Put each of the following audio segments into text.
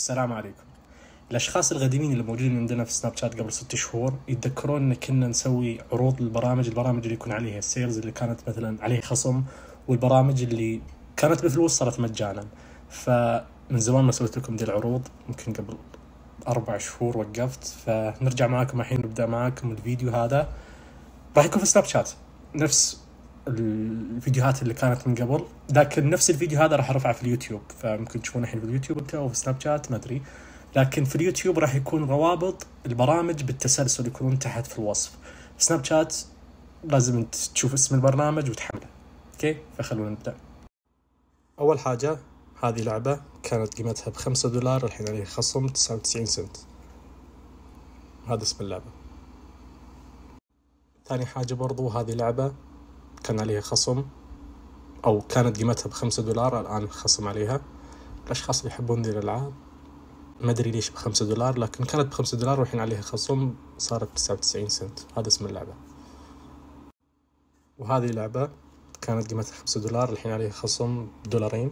السلام عليكم. الأشخاص القديمين اللي موجودين عندنا في سناب شات قبل 6 شهور يتذكرون إن كنا نسوي عروض البرامج اللي يكون عليها السيلز اللي كانت مثلا عليه خصم، والبرامج اللي كانت بفلوس صارت مجانا. فمن زمان ما سويت لكم دي العروض، يمكن قبل 4 شهور وقفت، فنرجع معاكم الحين. نبدأ معاكم الفيديو هذا راح يكون في سناب شات نفس الفيديوهات اللي كانت من قبل، لكن نفس الفيديو هذا راح ارفعه في اليوتيوب، فممكن تشوفونه الحين في اليوتيوب انت او في سناب شات ما ادري، لكن في اليوتيوب راح يكون روابط البرامج بالتسلسل يكونون تحت في الوصف. في سناب شات لازم انت تشوف اسم البرنامج وتحمله. اوكي، فخلونا نبدأ. اول حاجة، هذه لعبة كانت قيمتها $5، الحين عليه خصم 99 سنت. هذا اسم اللعبة. ثاني حاجة برضو، هذه لعبة كان عليها خصم، أو كانت قيمتها $5، الآن خصم عليها. الأشخاص اللي يحبون ذي الألعاب ما أدري ليش $5، لكن كانت $5 والحين عليها خصم صارت 99 سنت. هذا اسم اللعبة. وهذه لعبة كانت قيمتها $5، الحين عليها خصم $2.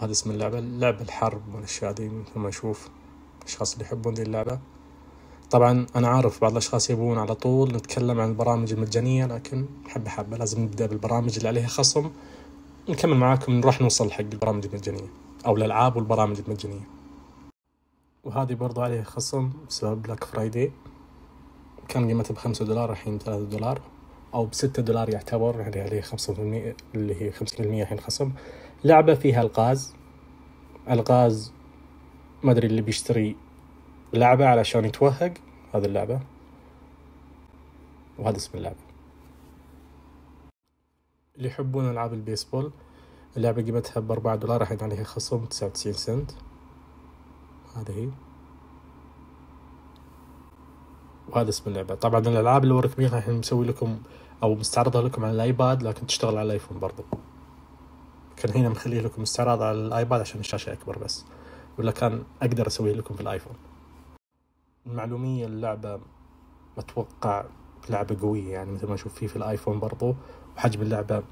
هذا اسم اللعبة. لعبة الحرب والأشياء دي، مثل ما نشوف الأشخاص اللي يحبون ذي اللعبة. طبعا أنا عارف بعض الأشخاص يبون على طول نتكلم عن البرامج المجانية، لكن حبة لازم نبدأ بالبرامج اللي عليها خصم، نكمل معاكم نروح نوصل حق البرامج المجانية أو الألعاب والبرامج المجانية. وهذه برضو عليها خصم بسبب بلاك فرايداي، كان قيمتها $5 الحين $3، أو $6 يعتبر، يعني عليه 5% اللي هي 50% الحين خصم. لعبة فيها ألغاز ما أدري اللي بيشتري لعبة علشان يتوهق، هذه اللعبة. وهذا اسم اللعبة. اللي يحبون ألعاب البيسبول، اللعبة قيمتها $4، الحين عليها خصم 99 سنت. هذه هي. وهذا اسم اللعبة. طبعا الألعاب اللي وريك بيها الحين مسوي لكم أو مستعرضها لكم على الآيباد، لكن تشتغل على الآيفون برضو. كان هنا مخليه لكم استعراض على الآيباد عشان الشاشة أكبر بس، ولا كان أقدر أسويه لكم في الآيفون. المعلومية، اللعبة أتوقع لعبة قوية، يعني مثل ما نشوف فيه في الآيفون برضو. وحجم اللعبة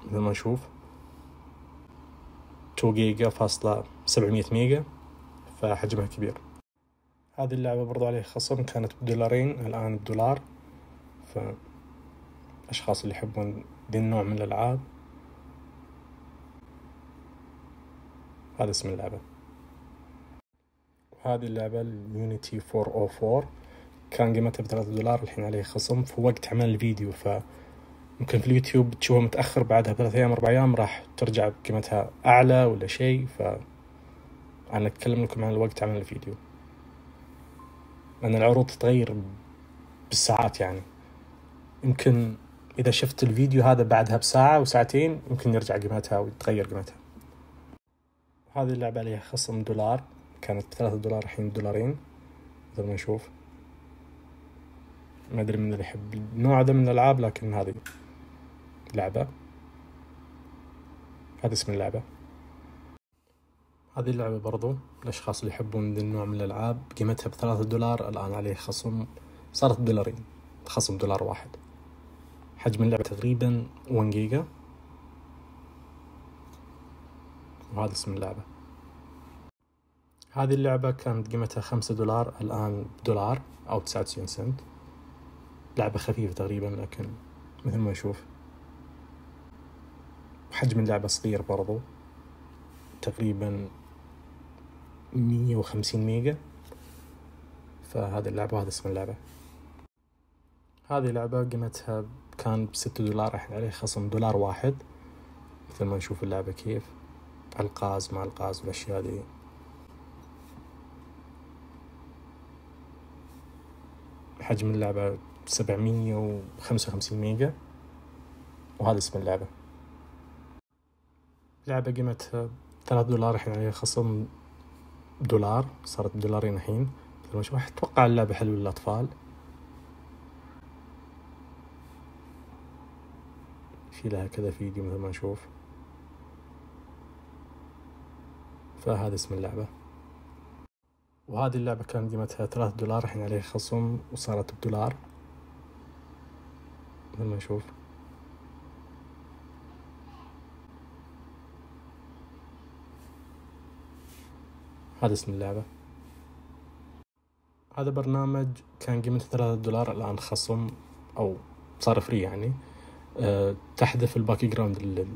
مثل ما نشوف 2 GB 700 ميجا، فحجمها كبير. هذه اللعبة برضو عليها خصم، كانت $2 الآن $1. فأشخاص اللي يحبون ذي النوع من الألعاب، هذا اسم اللعبة. وهذه اللعبة اليونيتي 404 كان قيمتها $3، الحين عليه خصم في وقت عمل الفيديو، فممكن في اليوتيوب تشوفها متأخر بعدها ب3 أيام 4 أيام راح ترجع بقيمتها أعلى ولا شيء. فأنا أتكلم لكم عن الوقت عمل الفيديو، لأن العروض تتغير بالساعات، يعني يمكن إذا شفت الفيديو هذا بعدها بساعة وساعتين يمكن يرجع قيمتها ويتغير قيمتها. هذه اللعبة عليها خصم $1، كانت $3 الحين $2 مثل ما نشوف. ما أدري من اللي يحب النوع هذا من الألعاب، لكن هذه لعبة. هذا اسم اللعبة. هذه اللعبة برضو الأشخاص اللي يحبون ذا النوع من الألعاب، قيمتها $3، الآن عليه خصم صارت $2، خصم $1. حجم اللعبة تقريبا 1 جيجا. وهذا اسم اللعبة. هذه اللعبة كانت قيمتها $5، الآن $1 أو 99 سنت. لعبة خفيفة تقريبا، لكن مثل ما نشوف حجم اللعبة صغير برضو، تقريبا 150 ميجا. فهذه اللعبة وهذا اسم اللعبة. هذه لعبة قيمتها كان $6، الحين عليه خصم $1. مثل ما نشوف اللعبة كيف ألغاز مع ألغاز والأشياء دي. حجم اللعبة 755 ميجا. وهذا اسم اللعبة. لعبة قيمتها $3، الحين عليها خصم $1، صارت $2 الحين. مثل ما نشوف أتوقع اللعبة حلوة للأطفال. في لها كذا فيديو مثل ما نشوف. فهذا اسم اللعبة. وهذه اللعبة كان قيمتها $3، الحين عليها خصم وصارت $1 مثل ما نشوف. هذا اسم اللعبة. هذا برنامج كان قيمته $3، الآن خصم أو صار فري يعني. تحذف الباك جراوند،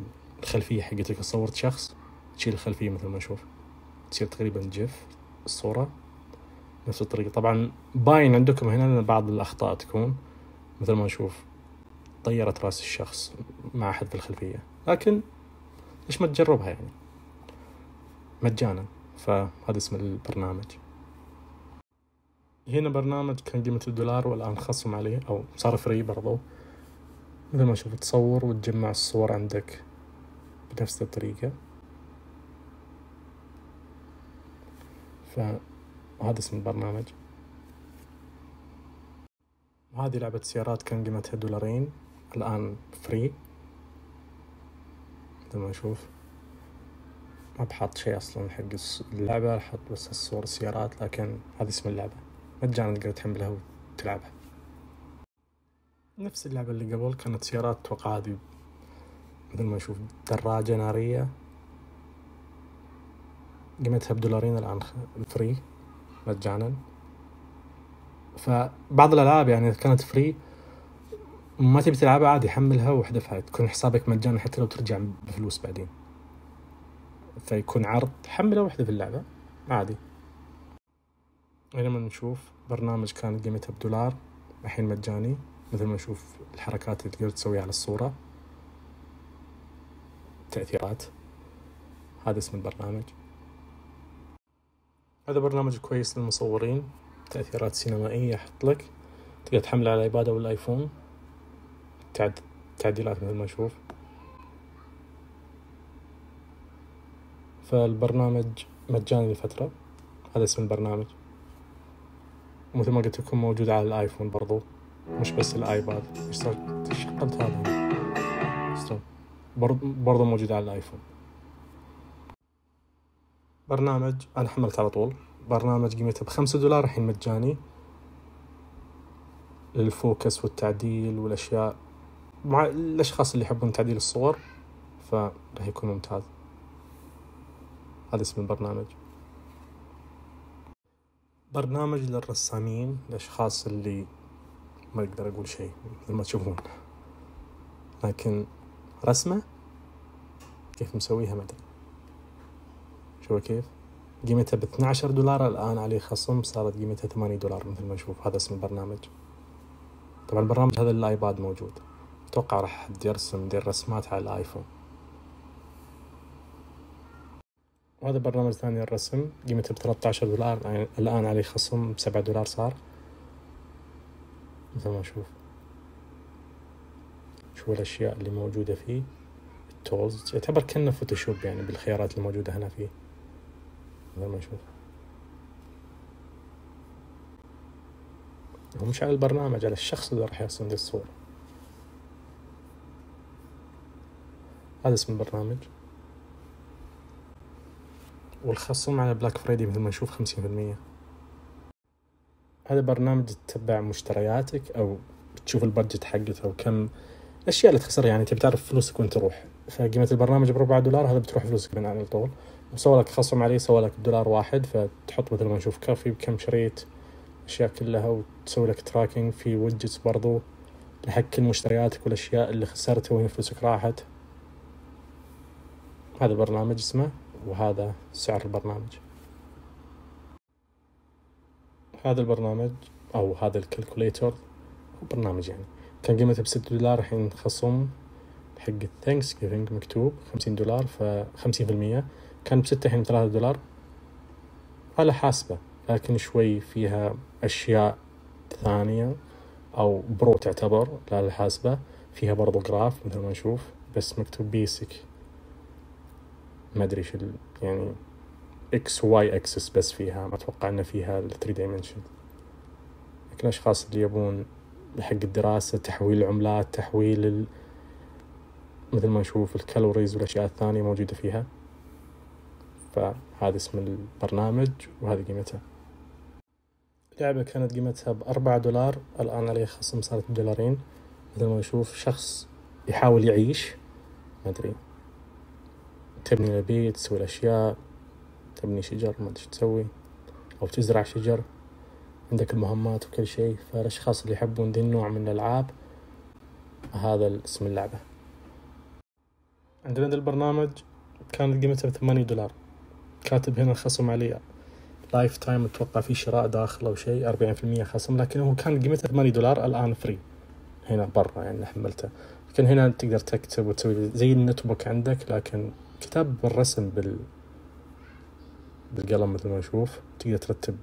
الخلفية حقتك. صورت شخص تشيل الخلفية مثل ما نشوف، تصير تقريبا جيف الصورة نفس الطريقة. طبعا باين عندكم هنا أن بعض الأخطاء تكون مثل ما نشوف طيرت رأس الشخص مع حذف الخلفية، لكن ليش ما تجربها يعني مجانا. فهذا اسم البرنامج. هنا برنامج كان قيمته $1 والآن خصم عليه أو صار فري برضو. مثل ما نشوف تصور وتجمع الصور عندك بنفس الطريقة. فهذا اسم البرنامج. هذه لعبة سيارات كان قيمتها $2، الآن فري. مثل ما نشوف ما بحط شيء أصلا حق اللعبة، حط بس الصور السيارات، لكن هذا اسم اللعبة مجانا تقدر تحملها وتلعبها. نفس اللعبة اللي قبل كانت سيارات، توقع هذه مثل ما نشوف دراجة نارية قيمتها $2، الآن فري مجانا. فبعض الألعاب يعني كانت فري ما تبي تلعبها عادي حملها واحذفها، تكون حسابك مجانا حتى لو ترجع بفلوس بعدين. فيكون عرض حمله واحذف اللعبة عادي. هنا ما نشوف برنامج كان قيمته $1 الحين مجاني. مثل ما نشوف الحركات اللي تقدر تسويها على الصورة، تأثيرات. هذا اسم البرنامج. هذا برنامج كويس للمصورين، تأثيرات سينمائية أحط لك، تقدر تحمله على الآيباد أو الآيفون، تعديلات مثل ما نشوف. فالبرنامج مجاني لفترة. هذا اسم البرنامج. ومثل ما قلت لكم موجود على الآيفون برضو، مش بس الآيباد. شغلت هذا برضو موجود على الآيفون. برنامج أنا حملت على طول، برنامج قيمته $5 الحين مجاني للفوكس والتعديل والأشياء مع الأشخاص اللي يحبون تعديل الصور، فرح يكون ممتاز. هذا اسم البرنامج. برنامج للرسامين، الأشخاص اللي ما أقدر أقول شيء مثل ما تشوفون، لكن رسمة كيف مسويها ما أدري. شوفوا كيف قيمتها $12، الآن عليه خصم صارت قيمتها $8 مثل ما نشوف. هذا اسم البرنامج. طبعا البرنامج هذا للآيباد موجود، أتوقع راح يرسم دير رسمات على الآيفون. وهذا برنامج ثاني للرسم قيمته $13، الآن عليه خصم $7 صار. مثل ما نشوف شو الأشياء اللي موجودة فيه. التولز يعتبر كأنه فوتوشوب يعني بالخيارات الموجودة هنا فيه. مثل ما نشوف هو مش على البرنامج، على الشخص اللي راح يرسم دي الصورة. هذا اسم البرنامج. والخصم على بلاك فرايدي مثل ما نشوف 50%. هذا برنامج تتبع مشترياتك أو تشوف البادجت حقته أو كم الأشياء اللي تخسرها، يعني تبي تعرف فلوسك وين تروح. فقيمة البرنامج $4، هذا بتروح فلوسك من على طول. وسوى لك خصم عليه، سوى لك $1 فتحط مثل ما نشوف كافي بكم شريت أشياء كلها، وتسوي لك تراكينج في ويدجتس برضو لحق كل مشترياتك والأشياء اللي خسرتها وين فلوسك راحت. هذا البرنامج اسمه، وهذا سعر البرنامج. هذا البرنامج أو هذا الكالكوليتر برنامج يعني كان قيمته $6، الحين خصم حق الثانكس جيفينج مكتوب $50، ف50%. كان ب6 الحين $3 على حاسبة، لكن شوي فيها أشياء ثانية أو برو تعتبر لا الحاسبة. فيها برضو جراف مثل ما نشوف، بس مكتوب بيسك ما أدري شو يعني X Y axis بس فيها، ما أتوقع أن فيها 3 dimension. لكن الأشخاص اللي يبون حق الدراسة، تحويل العملات، تحويل مثل ما نشوف الكالوريز والأشياء الثانية موجودة فيها. فهذا اسم البرنامج وهذه قيمتها. اللعبة كانت قيمتها $4، الآن عليه خصم صارت $2. مثل ما نشوف شخص يحاول يعيش، ما أدري تبني البيت، تسوي الأشياء، تبني شجر، ما أدري تسوي، أو تزرع شجر، عندك المهمات وكل شيء. فالأشخاص اللي يحبون ذي النوع من الألعاب هذا اسم اللعبة. عندنا ذا البرنامج كانت قيمته $8، كاتب هنا الخصم عليه لايف تايم، اتوقع في شراء داخل او شيء 40% خصم، لكن هو كان قيمته $8 الان فري هنا برا يعني حملته. لكن هنا تقدر تكتب وتسوي زي النوت بوك عندك، لكن كتاب بالرسم بالقلم مثل ما نشوف. تقدر ترتب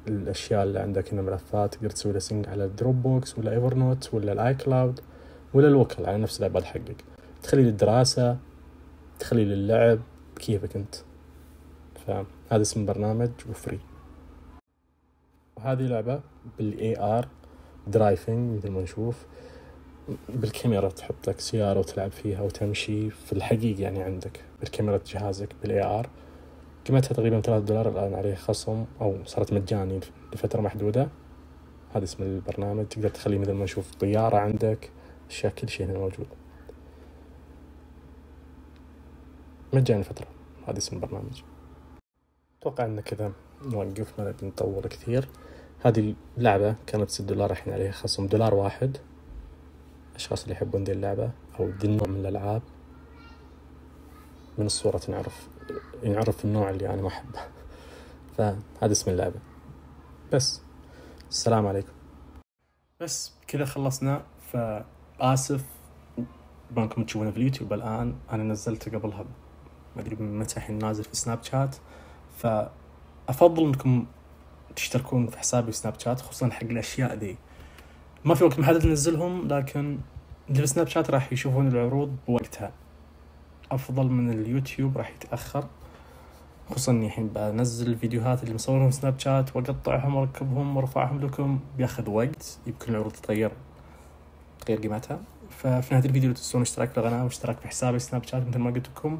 الاشياء اللي عندك هنا، ملفات تقدر تسوي له سينك على الدروب بوكس ولا ايفر نوت ولا الاي كلاود ولا الوكل على نفس الايباد حقك. تخلي للدراسة، تخلي للعب، كيفك انت. فهذا اسم البرنامج وفري. وهذه لعبة بالاي ار درايفنج مثل ما نشوف، بالكاميرا تحط لك سيارة وتلعب فيها وتمشي في الحقيقة يعني عندك بالكاميرا جهازك بالاي ار. قيمتها تقريبا $3 الآن، عليه خصم أو صارت مجاني لفترة محدودة. هذا اسم البرنامج. تقدر تخلي مثل ما نشوف طيارة عندك، أشياء كل شيء هنا موجود مجاني فترة. هذا اسم البرنامج. أتوقع أن كذا نوقف، ما نبي نطول كثير. هذه اللعبة كانت $6، الحين عليها خصم $1. الأشخاص اللي يحبون دي اللعبة أو دي النوع من الألعاب، من الصورة ينعرف النوع اللي أنا ما أحبه. فهذا اسم اللعبة. بس السلام عليكم. بس كذا خلصنا. فآسف ما انكم تشوفونه في اليوتيوب الآن، أنا نزلته قبلها ما أدري متى الحين نازل في سناب شات. فأفضل أنكم تشتركون في حسابي في سناب شات، خصوصا حق الأشياء دي. ما في وقت محدد ننزلهم، لكن اللي في سناب شات راح يشوفون العروض بوقتها أفضل من اليوتيوب، راح يتأخر. خصوصا إني الحين بنزل الفيديوهات اللي مصورهم في سناب شات وأقطعهم وأركبهم وأرفعهم لكم، بياخذ وقت، يمكن العروض تغير قيمتها. ففي نهاية الفيديو لا تنسون اشتراك في القناة واشتراك في حسابي سناب شات مثل ما قلت لكم،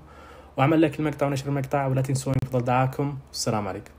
وأعمل لايك المقطع ونشر المقطع، ولا تنسون يفضل دعاكم. والسلام عليكم.